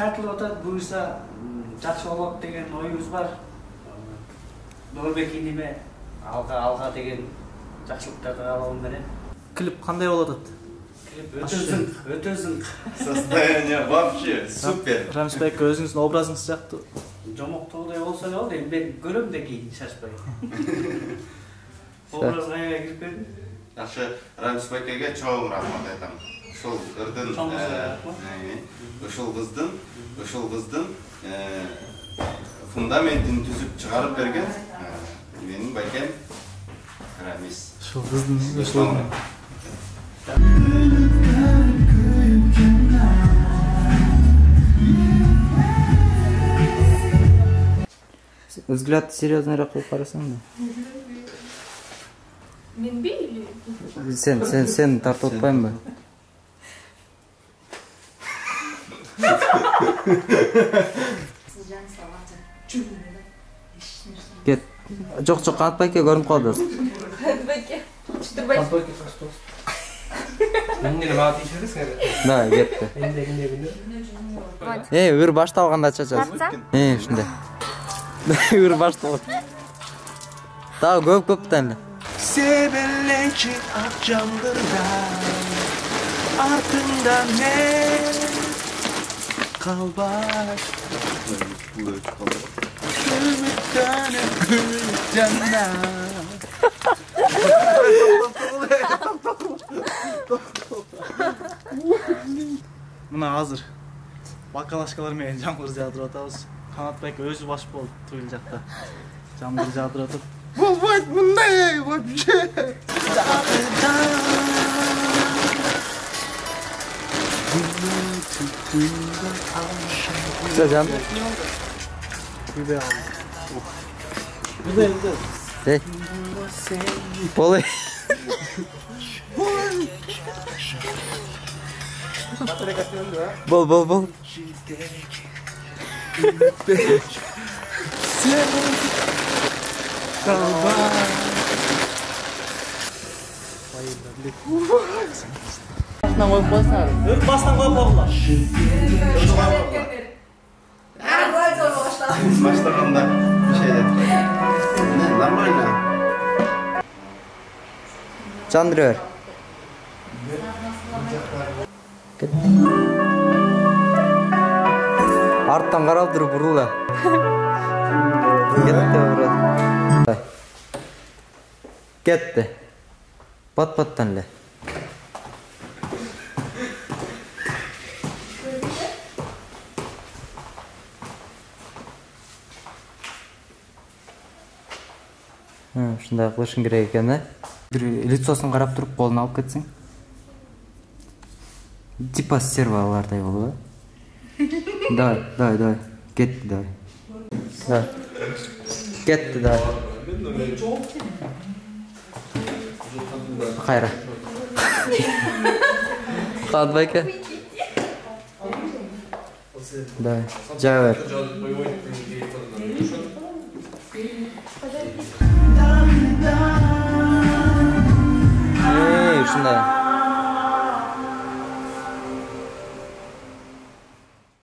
тартылып атат, буюрса жакшы болот деген оюбуз бар. Нурбек иниме алга деген жакшылыктарды каалоо менен. Клип кандай болот атат? Клип өтө зың. Состояние вообще супер. Рамисбек өзүңүздүн образыңыз жактуу. Жомоктогудай болсо да болду, эми мен көрөм да кийин шашпай. Образга кирип келдим. Жакшы, Рамисбекке чоң рахмат айтам. Ушул кыздын фундаментин түзүп чыгарып берген менин байкем Рамис. Ушул кыздын взгляд серьезныйраак кылып карасаң да. Мен бейли. Сен тартып атпайбы? Кет. Жок, Кантбайке көрүнүп калды. Кантбайке. Чытырбай. Эмне мага тийишесиң? Да, кетти. Ыр башталганда чачасың. Ушундай. Ыр башталып. Дагы көптөн эле. Sebelleçi akşamdırlar артыңда не kalbar Мына азыр бакалашкалар менен жамгыр жаадырып атабыз. Канатбек өзү баш болуп тыгыл жакта жамгыр жаадырып атат. Болбойт мындай вообще. Жан. Күйбөй ал. Эй. Болой. Бол. Бастан коюп койсоңар. Бастан коюп койгула. Баштаганда нормально. Чандыры бер. Арттан карап туруп бурула. Кетти брат. Кетти. Пат-паттан эле. Ушундай кылышың керек экен, да? Бир лицосун карап туруп, колун алып кетсең. Типа сервалардай болот, да? Давай. Кетти, давай. Да. Кетти, давай. Кайра. Кантбайке. Давай. Жаба бер. Ушундай.